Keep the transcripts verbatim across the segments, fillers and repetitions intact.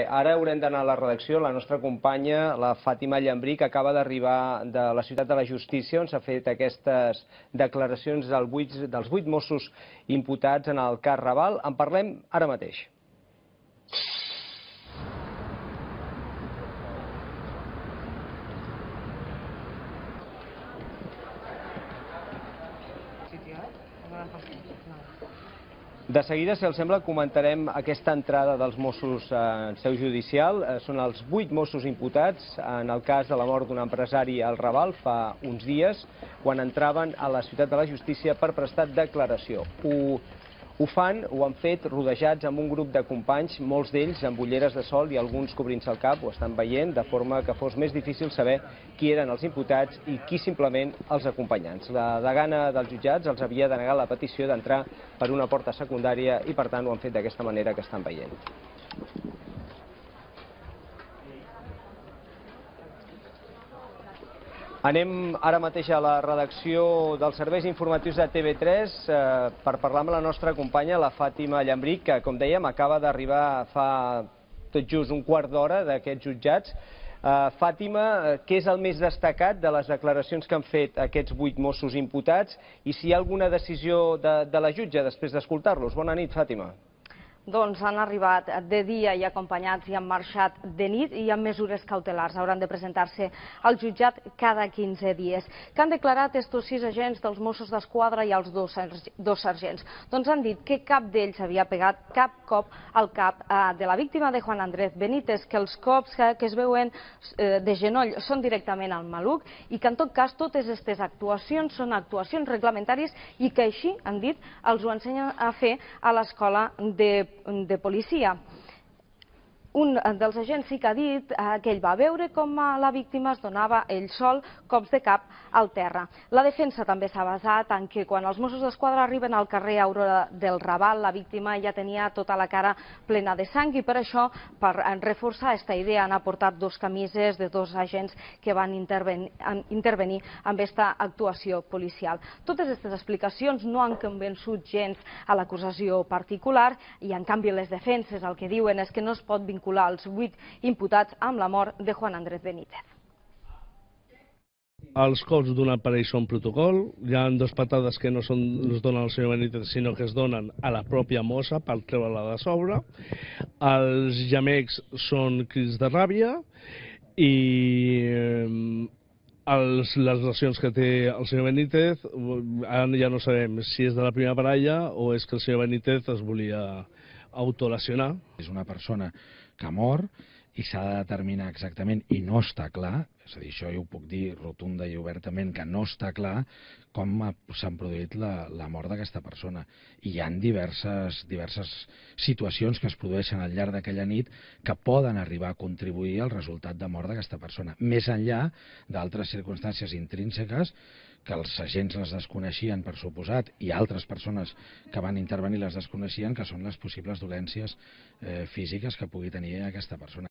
Ara haurem d'anar a la redacció. La nostra companya, la Fàtima Llambric, acaba d'arribar de la Ciutat de la Justícia, on s'ha fet aquestes declaracions dels vuit Mossos imputats en el cas Raval. En parlem ara mateix. De seguida, si els sembla, comentarem aquesta entrada dels Mossos en seu judicial. Són els vuit Mossos imputats en el cas de la mort d'un empresari al Raval fa uns dies, quan entraven a la Ciutat de la Justícia per prestar declaració. Ho, ho fan, ho han fet rodejats amb un grup de companys, molts d'ells amb ulleres de sol i alguns cobrint-se el cap, ho estan veient, de forma que fos més difícil saber qui eren els imputats i qui simplement els acompanyants. La degana dels jutjats els havia denegat la petició d'entrar per una porta secundària i, per tant, ho han fet d'aquesta manera que estan veient. Anem ara mateix a la redacció dels serveis informatius de T V tres per parlar amb la nostra companya, la Fàtima Llambric, que, com dèiem, acaba d'arribar fa tot just un quart d'hora d'aquests jutjats. Fàtima, què és el més destacat de les declaracions que han fet aquests vuit Mossos imputats i si hi ha alguna decisió de, de la jutge després d'escoltar-los? Bona nit, Fàtima. Doncs han arribat de dia i acompanyats i han marxat de nit i amb mesures cautelars. Hauran de presentar-se al jutjat cada quinze dies. Què han declarat estos sis agents dels Mossos d'Esquadra i els dos, dos sergents? Doncs han dit que cap d'ells havia pegat cap cop al cap de la víctima de Juan Andrés Benítez, que els cops que, que es veuen de genoll són directament al maluc i que en tot cas totes aquestes actuacions són actuacions reglamentàries i que així, han dit, els ho ensenyen a fer a l'escola de de policia. Un dels agents sí que ha dit que ell va veure com la víctima es donava ell sol cops de cap al terra. La defensa també s'ha basat en que quan els Mossos d'Esquadra arriben al carrer Aurora del Raval, la víctima ja tenia tota la cara plena de sang i per això, per reforçar aquesta idea, han aportat dos camises de dos agents que van intervenir, intervenir amb aquesta actuació policial. Totes aquestes explicacions no han convençut gens a l'acusació particular i, en canvi, les defenses el que diuen és que no es pot vincular els vuit imputats amb la mort de Juan Andrés Benítez. Els cops d'un aparell són protocol, hi ha dues patades que no són, es donen al senyor Benítez, sinó que es donen a la pròpia mossa per treure-la de sobre. Els gemecs són crits de ràbia i els, les lesions que té el senyor Benítez, ara ja no sabem si és de la primera baralla o és que el senyor Benítez es volia autolesionar. És una persona que mor i s'ha de determinar exactament, i no està clar, és a dir, això jo ho puc dir rotunda i obertament, que no està clar com s'han produït la, la mort d'aquesta persona. I hi ha diverses, diverses situacions que es produeixen al llarg d'aquella nit que poden arribar a contribuir al resultat de mort d'aquesta persona, més enllà d'altres circumstàncies intrínseques que els agents les desconeixien, per suposat, i altres persones que van intervenir les desconeixien, que són les possibles dolències eh, físiques que pugui tenir aquesta persona.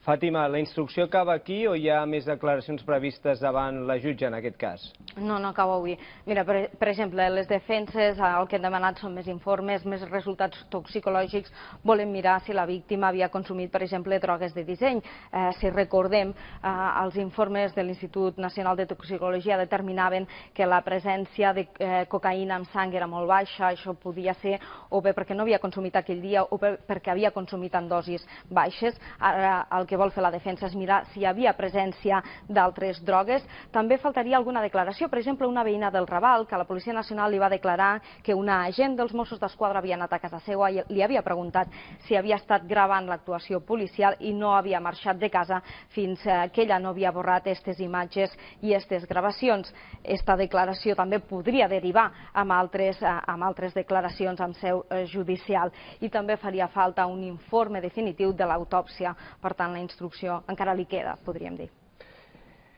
Fàtima, la instrucció acaba aquí o hi ha més declaracions previstes davant la jutge en aquest cas? No, no acaba avui. Mira, per, per exemple, les defenses el que han demanat són més informes, més resultats toxicològics, volen mirar si la víctima havia consumit, per exemple, drogues de disseny. Eh, si recordem, eh, els informes de l'Institut Nacional de Toxicologia determinaven que la presència de eh, cocaïna en sang era molt baixa, això podia ser o bé perquè no havia consumit aquell dia o bé perquè havia consumit en dosis baixes. Ara el que vol fer la defensa és mirar si hi havia presència d'altres drogues. També faltaria alguna declaració, per exemple, una veïna del Raval, que la Policia Nacional li va declarar que una agent dels Mossos d'Esquadra havia anat a casa seva i li havia preguntat si havia estat gravant l'actuació policial i no havia marxat de casa fins que ella no havia borrat aquestes imatges i aquestes gravacions. Esta declaració també podria derivar amb altres, amb altres declaracions en seu judicial i també faria falta un informe definitiu de l'autòpsia. Per tant, la instrucció encara li queda, podríem dir.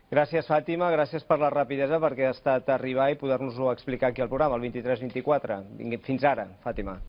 Gràcies, Fàtima, gràcies per la rapidesa perquè ha estat arribar i poder-nos-ho explicar aquí al programa, el vint-i-tres vint-i-quatre. Fins ara, Fàtima.